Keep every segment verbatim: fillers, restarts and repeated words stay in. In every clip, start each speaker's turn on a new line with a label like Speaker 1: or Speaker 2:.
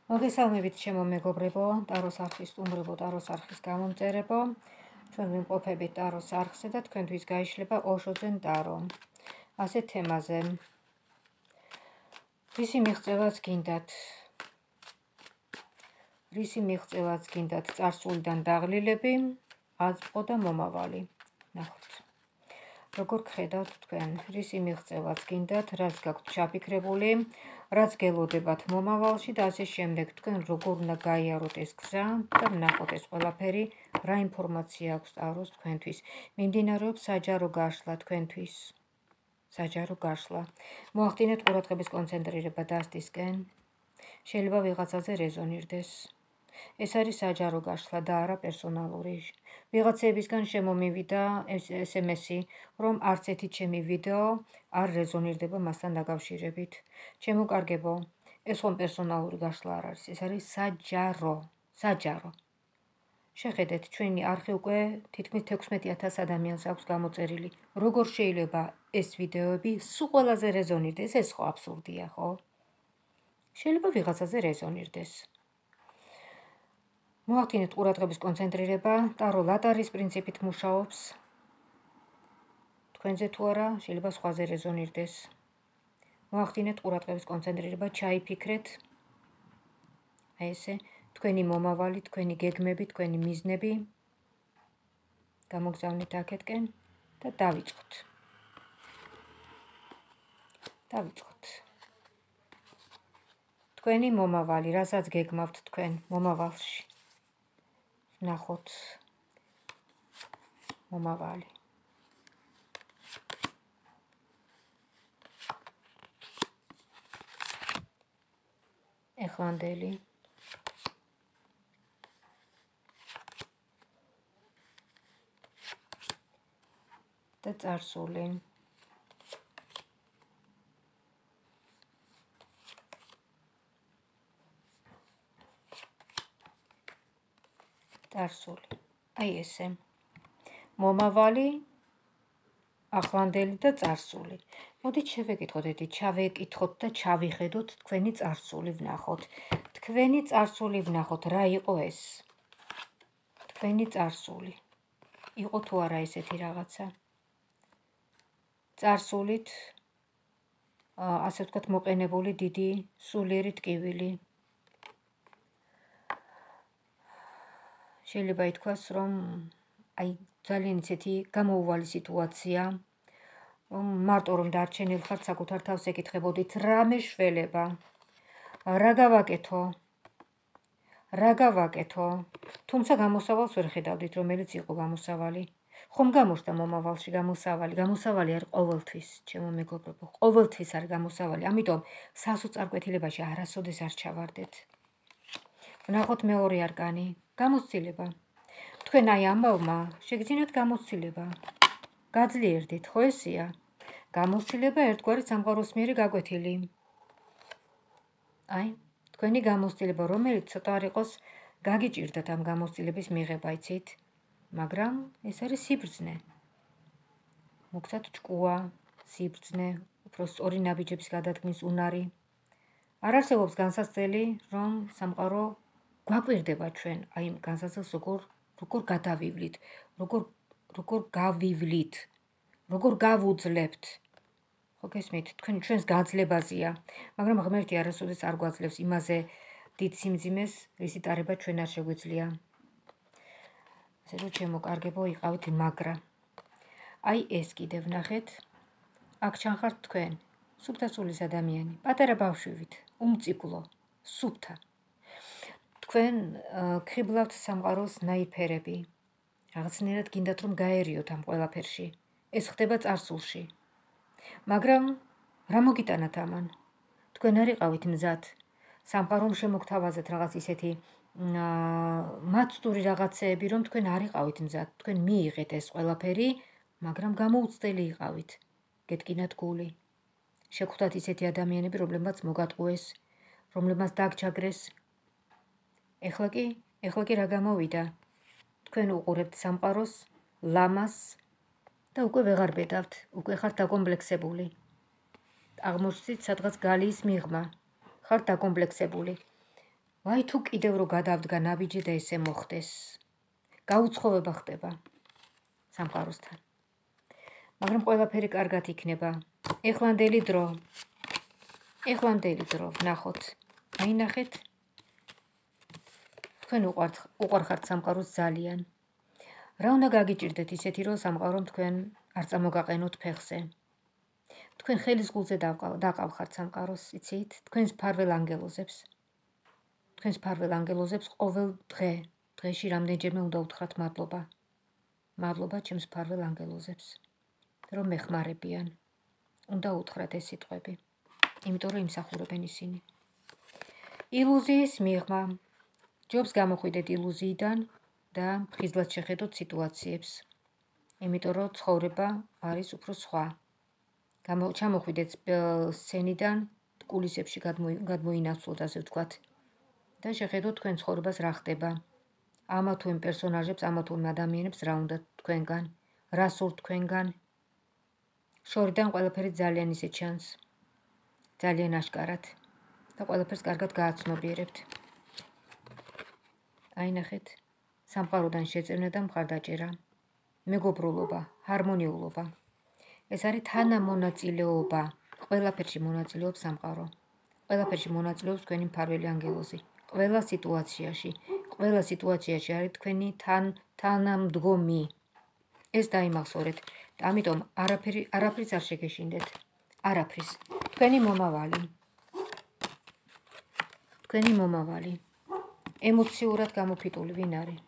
Speaker 1: მოგესალმებით ჩემო მეგობრებო, ტაროს არხის სტუმრებო, ტაროს არხის გამომწერებო. ჩვენ ვიმყოფებით ტაროს არხზე და თქვენთვის გაიშლება ოშოძენ ტარო. ასე თემაზე. რისი მიღწევაც გინდათ? რისი მიღწევაც გინდათ? წარსულიდან დაღლილები, აზბყო და მომავალი. ნახოთ. როგორ გხედავთ თქვენ? რისი მიღწევაც გინდათ? რაც გაქვთ ჩაფიქრებული? რაც გელოდებათ მომავალში და ასე შემდეგ. თქვენ როგორ უნდა გაიაროთ ეს გზა და ვნახოთ ეს ყველაფერი რა ინფორმაცია აქვს ტაროს თქვენთვის. მიმდინარეობს საჯარო გაშლა თქვენთვის. საჯარო გაშლა. მოახდინეთ ყურადღების კონცენტრირება დასტისკენ. შეიძლება ვიღაცაზე რეზონირდეს. ეს არის საჯარო გაშლა და არა პერსონალური. ვიღაცებისგან შემომივიდა ეს ემ ესი, რომ არც ერთი ჩემი ვიდეო არ რეზონირდება მასთან დაკავშირებით. ჩემოკარგებო, ეს ხომ პერსონალური გაშლა არ არის, ეს არის საჯარო, საჯარო. შეხედეთ, ჩვენი არხი უკვე თითქმის თექვსმეტი ათას ადამიანს აქვს გამოწერილი. როგორ შეიძლება ეს ვიდეოები სულ ყველაზე რეზონირდეს? ეს ხო აბსურდია, ხო? შეიძლება ვიღაცაზე რეზონირდეს. მოახდინეთ ყურადღების კონცენტრირება, ტარო ლატარის პრინციპით მუშაობს. თქვენზე თუ არა, შეიძლება სხვაზე რეზონირდეს. მოახდინეთ ყურადღების კონცენტრირება, ჩაიფიქრეთ. აი ესე, თქვენი მომავალი, თქვენი გეგმები, თქვენი მიზნები. გამოგზავნით აქეთკენ და დავიწყოთ. დავიწყოთ. თქვენი მომავალი, რასაც გეგმავთ თქვენ მომავალში. ნახოთ. მომავალი. ეხლანდელი. და წარსული. წარსული. აი ესე. მომავალი, ახლანდელი და წარსული. მოდით შევეკითხოთ ერთი, ჩავეკითხოთ და ჩავიხედოთ თქვენი წარსული ვნახოთ. თქვენი წარსული ვნახოთ, რა იყო ეს? თქვენი წარსული. იყო თუ არა ესეთი რაღაცა? წარსულით, ასე ვთქვათ, მოყენებული დიდი სულიერი ტკივილი. შეიძლება ითქვას, რომ აი ძალიან ისეთი გამოუვალი სიტუაცია, რომ მარტო რომ დარჩენილ ხართ საკუთარ თავს ეკითხებოდით, რა მეშველება, რა გავაკეთო, რა გავაკეთო, თუმცა გამოსავალს ვერ ხედავდით, რომელიც იყო გამოსავალი. ხომ გამოჩნდა მომავალში გამოსავალი, გამოსავალი არის ყოველთვის, ჩემო მეგობრებო, ყოველთვის არის გამოსავალი, ამიტომ სასოწარკვეთილებაში არასოდეს არ ჩავარდეთ. ვნახოთ მეორე არკანი, გამოცდილება. თქვენ აი ამბავმა შეგძინათ გამოცდილება. გაძლიერდით, ხო ესეა? გამოცდილება ერთგვარი სამყაროსმიერი გაკვეთილი. აი, თქვენი გამოცდილება, რომელიც ცოტა არ იყოს გაგიჭირდათ ამ გამოცდილების მიღება, იცით? მაგრამ ეს არის სიბრძნე. მოგცათ ჭკუა, სიბრძნე, უფრო სწორი ნაბიჯების გადადგმის უნარი. არ არსებობს განსაცდელი, რომ სამყარო გვაკვირდება ჩვენ, აი ამ განსაცდელს როგორ როგორ გადავივლით, როგორ როგორ გავივლით, როგორ გავუძლებთ. ხო გესმით, თქვენ ჩვენს გაძლებაზეა, მაგრამ ღმერთი არასოდეს არ გვაძლევს იმაზე დიდ სიმძიმეს, რისი ტარება ჩვენ არ შეგვიძლია. ასე რომ ჩემოკარგებო, იყავით მაგრა. აი ეს კიდევ ვნახეთ. აქ ჩანხართ თქვენ, სუფთასულის ადამიანი, პატარა ბავშვივით, უმწიკლო, სუფთა. თქვენ გხიბლავთ სამყაროს ნაიფერები. რაღაცნაირად გინდათ რომ გაერიოთ ამ ყველაფერში. ეს ხდება წარსულში. მაგრამ რა მოგიტანათ ამან? თქვენ არ იყავით მზად. სამყარომ შემოგთავაზეთ რაღაც ისეთი მაცდური რაღაცეები, რომ თქვენ არ იყავით მზად. თქვენ მიიღეთ ეს ყველაფერი, მაგრამ გამოუცდელი იყავით. გეტკინათ გული. შეგხვდათ ისეთი ადამიანები, რომლებმაც მოგატყუეს, რომლებმაც დაგჯაგრეს. ეხლა კი, ეხლა კი რა გამოვიდა? თქვენ უყურებთ სამყაროს, ლამას და უკვე ვეღარ ბედავთ, უკვე ხართ დაკომპლექსებული. აღმოჩნდით სადღაც გალიის მიღმა. ხართ დაკომპლექსებული. ვაი თუ კიდევ რო გადავდგა ნაბიჯი და ესე მოხდეს. გაუცხოვება ხდება სამყაროსთან. მაგრამ ყველაფერი კარგად იქნება. ეხლანდელი დრო. ეხლანდელი დრო, ვნახოთ. აინახეთ. თქვენ უყვარხართ სამყაროს ძალიან. რა უნდა გაგიჭირდეთ ისეთი, რომ სამყარომ თქვენ არ წამოგაყენოთ ფეხზე. თქვენ ხელის გულზე დაყავხართ სამყაროს, იცით? თქვენს ფარველ ანგელოზებს. თქვენს ფარველ ანგელოზებს ყოველ დღე, დღეში რამდენჯერმე უნდა უთხრათ მადლობა. მადლობა ჩემს ფარველ ანგელოზებს, რომ მეხმარებიან. უნდა უთხრათ ეს სიტყვები, იმიტომ რომ იმსახურებენ ისინი. ილუზიის მიღმა. ჯობს გამოხვიდეთ ილუზიიდან და ხიზლად შეხედოთ სიტუაციებს. იმიტომ რომ ცხოვრება არის უფრო სხვა. ჩამოხვიდეთ სცენიდან, კულისებში გადმოინაცვლოთ, ასე ვთქვათ. და შეხედოთ თქვენ ცხოვრებას რა ხდება. ამა თუ იმ პერსონაჟებს, ამა თუ იმ ადამიანებს რა უნდა თქვენგან, რა სურთ თქვენგან. შორიდან ყველაფერი ძალიან ისე ჩანს. ძალიან აშკარად. და ყველაფერს კარგად გააცნობიერებთ. აინახეთ. სამყაროდან შეწევნა და მხარდაჭერა. მეგობრულობა, ჰარმონიულობა. ეს არის თანამონაწილეობა. ყველაფერში მონაწილეობს სამყარო. ყველაფერში მონაწილეობს თქვენი მფარველი ანგელოზი. ყველა სიტუაციაში, ყველა სიტუაციაში არის თქვენი თან თანამდგომი. ეს დაიმახსოვრეთ. ამიტომ არაფერი არაფრის არ შეგეშინდეთ. არაფრის. თქვენი მომავალი. თქვენი მომავალი. ემოციურად გამოფიტული ვინ არის?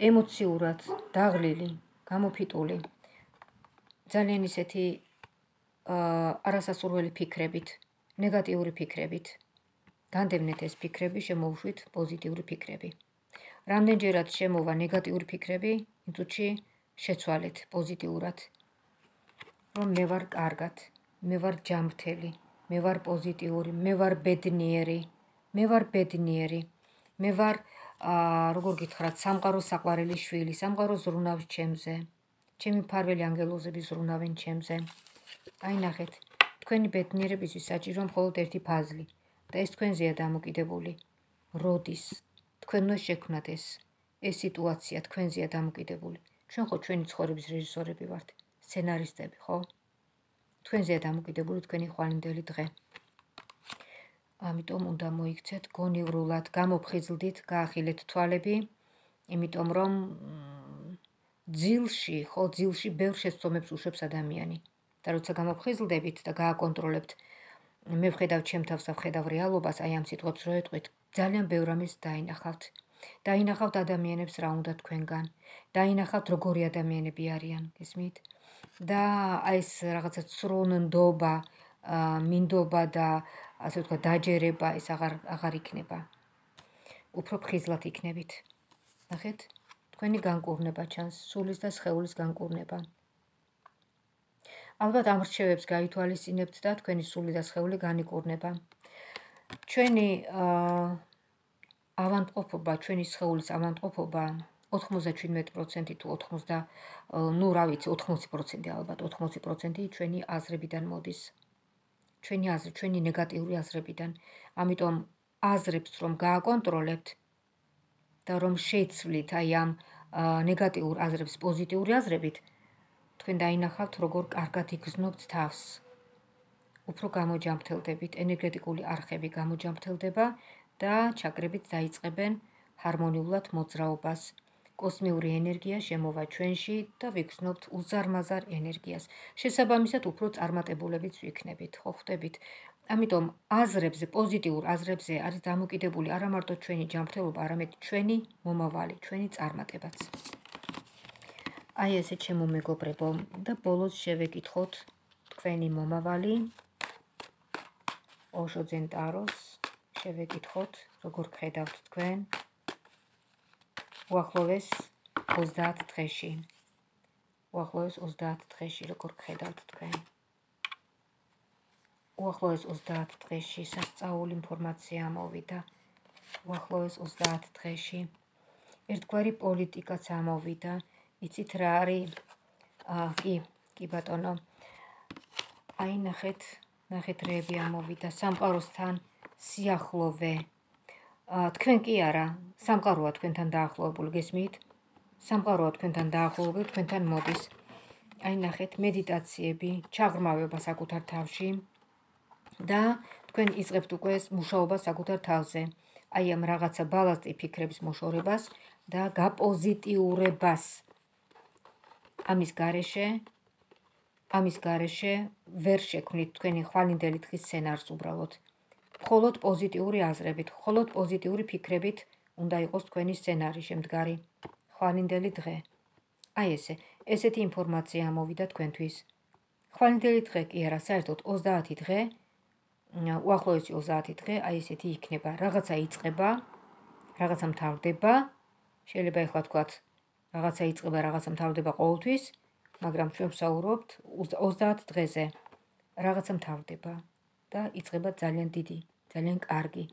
Speaker 1: ემოციურად დაღლილი, გამოფიტული. ძალიან ისეთი არასასურველი ფიქრებით, ნეგატიური ფიქრებით. განდევნეთ ეს ფიქრები, შემოუშვით პოზიტიური ფიქრები. რამდენჯერად შემოვა ნეგატიური ფიქრები, იმ წუთში შეცვალეთ პოზიტიურად. რომ მე ვარ კარგად, მე ვარ ჯანმრთელი, მე ვარ პოზიტიური, მე ვარ ბედნიერი, მე ვარ ბედნიერი, მე ვარ როგორ გითხრათ, სამყაროს საყვარელი შვილი, სამყარო ზრუნავს ჩემზე. ჩემი მფარველი ანგელოზები ზრუნავენ ჩემზე. აინახეთ, თქვენი ბედნიერებისთვის საჭირო მხოლოდ ერთი ფაზლი და ეს თქვენზეა დამოკიდებული. როდის თქვენ უნდა შექმნათ ეს ეს სიტუაცია თქვენზეა დამოკიდებული. ჩვენ ხო ჩვენი ცხოვრების რეჟისორები ვართ, სცენარისტები, ხო? თქვენზეა დამოკიდებული თქვენი ხვალინდელი დღე. ამიტომ უნდა მოიქცეთ გონივრულად, გამოფხიზლდით, გაახილეთ თვალები, იმიტომ რომ ძილში, ხო, ძილში ბევრ შეცდომებს უშვებს ადამიანი. და როცა გამოფხიზლდებით და გააკონტროლებთ, მე ვხედავ ჩემ თავს და ვხედავ რეალობას, აი ამ სიტყვებს რო ეტყვით, ძალიან ბევრ ამის დაინახავთ. დაინახავთ ადამიანებს რა უნდა თქვენგან, დაინახავთ როგორი ადამიანები არიან, გესმით? და აი ეს რაღაცა ცრუნდობა, მინდობა და ასე ვთქვათ, დაჯერება ეს აღარ აღარ იქნება. უფრო ფხიზლად იქნებით. ნახეთ, თქვენი განკურნება ჩანს, სულის და სხეულის განკურნება. ალბათ ამ რჩევებს გაითვალისწინებთ და თქვენი სული და სხეული განიკურნება. ჩვენი ავადმყოფობა, ჩვენი სხეულის ავადმყოფობა ოთხმოცდაჩვიდმეტი პროცენტი თუ ოთხმოცდა, ნუ რა ვიცი, ოთხმოცი პროცენტი ალბათ, ოთხმოცი პროცენტი ჩვენი აზრებიდან მოდის. ჩვენი აზრი, ჩვენი ნეგატიური აზრებიდან. ამიტომ აზრებს რომ გააკონტროლებთ და რომ შეცვლით აი ამ ნეგატიურ აზრებს პოზიტიური აზრებით, თქვენ დაინახავთ როგორ კარგად იგრძნობთ თავს. უფრო გამოჯამრთელდებით, ენერგეტიკული არხები გამოჯამრთელდება და ჩაკრებით დაიწყებენ ჰარმონიულად მოძრაობას. კოსმიური ენერგია შემოვა ჩვენში და ვიგრძნობთ უზარმაზარ ენერგიას. შესაბამისად უფრო წარმატებულებიც ვიქნებით, ხო ხვდებით? ამიტომ აზრებზე, პოზიტიურ აზრებზე არის დამოკიდებული არა მარტო ჩვენი ჯანმრთელობა, არამედ ჩვენი მომავალი, ჩვენი წარმატებაც. აი ესე ჩემო მეგობრებო, და ბოლოს შევეკითხოთ თქვენი მომავალი, ოშო ძენ ტაროს, შევეკითხოთ, როგორ გხედავთ თქვენ უახლოეს ოცდაათ დღეში. უახლოეს ოცდაათ დღეში როგორ გხედავთ თქვენ. უახლოეს ოცდაათ დღეში სასწაული ინფორმაცია ამოვიდა. უახლოეს ოცდაათ დღეში ერთგვარი პოლიტიკაც ამოვიდა. იცით რა არის? კი, კი ბატონო. აი ნახეთ, ნახეთ რეები ამოვიდა. სამყაროსთან სიახლოვე. თქვენ კი არა, სამყაროა თქვენთან დაახლოებული, გესმით? სამყაროა თქვენთან დაახლოებული, თქვენთან მოდის. აი ნახეთ, მედიტაციები, ჩაღრმავება საკუთარ თავში და თქვენ იწყებთ უკვე მუშაობა საკუთარ თავზე. აი ამ რაღაცა ბალასტი ფიქრების მოშორებას და გაპოზიტიურებას. ამის გარეშე, ამის გარეშე ვერ შექმნით თქვენი ხვალინდელი დღის სცენარს უბრალოდ. მხოლოდ პოზიტიური აზრებით, მხოლოდ პოზიტიური ფიქრებით უნდა იყოს თქვენი სცენარი შემდგარი. ხვალინდელი დღე. აი ესე, ესეთი ინფორმაცია ამოვიდა თქვენთვის. ხვალინდელი დღე კი არა, საერთოდ ოცდაათი დღე, უახლოესი ოცდაათი დღე, აი ესეთი იქნება. რაღაცა იწყება, რაღაცა მთავრდება, შეიძლება ეხლა თქვათ, რაღაცა იწყება, რაღაცა მთავრდება ყოველთვის, მაგრამ ჩვენ ვსაუბრობთ ოცდაათ დღეზე. რაღაცა მთავრდება და იწყება ძალიან დიდი, ძალიან კარგი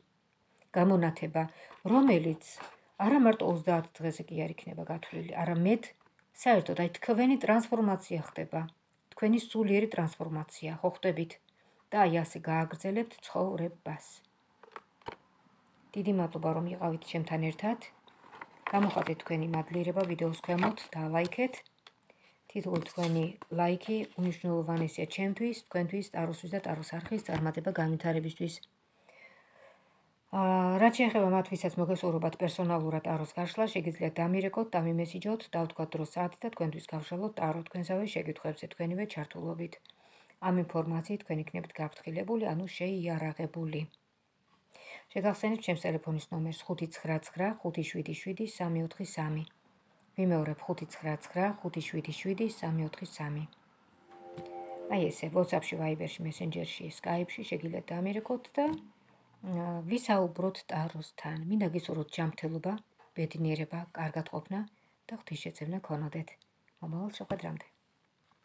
Speaker 1: გამონათება, რომელიც არა მარტო ოცდაათ დღეზე კი არ იქნება გათვლილი, არამედ საერთოდ აი თქვენი ტრანსფორმაცია ხდება, თქვენი სულიერი ტრანსფორმაცია, ხო ხტებით? და აი ასე გააგრძელებთ ცხოვრებას. დიდი მადლობა რომ იყავით ჩემთან ერთად. გამოხატეთ თქვენი მადლიერება ვიდეოს ქვემოთ და ლაიქეთ. თითოეული თქვენი ლაიქი უნიშნულოვანესია ჩემთვის, თქვენთვის, ტაროსთვის და ტაროს არხის წარმატება განვითარებისთვის. რაც შეეხება მათ, ვისაც მოგესურვებათ პერსონალურად ტაროს გაშლა, შეგიძლიათ დამირეკოთ, დამიმესიჯოთ, დავთქვათ დროს საათი და თქვენთვის გავშალოთ ტარო თქვენსავე შეკითხვებზე თქვენივე ჩართულობით. ამ ინფორმაციით თქვენ იქნებით გაფრთხილებული, ანუ შეიარაღებული. შეგახსენებთ ჩემს ტელეფონის ნომერს ხუთი ცხრა ცხრა ხუთი შვიდი შვიდი სამი ოთხი სამი. ვიმეორებ ხუთი ცხრა ცხრა ხუთი შვიდი შვიდი სამი ოთხი სამი. აი ესე, WhatsApp-ში, Viber-ში, Messenger-ში, Skype-ში შეგიძლიათ დამირეკოთ და ვისაუბროთ ტაროსთან. მინდა გისურვოთ ჯანმრთელობა, ბედნიერება, კარგად ყოფნა და ღვთისშეწევნა გქონოდეთ. მომავალ შეხვედრამდე.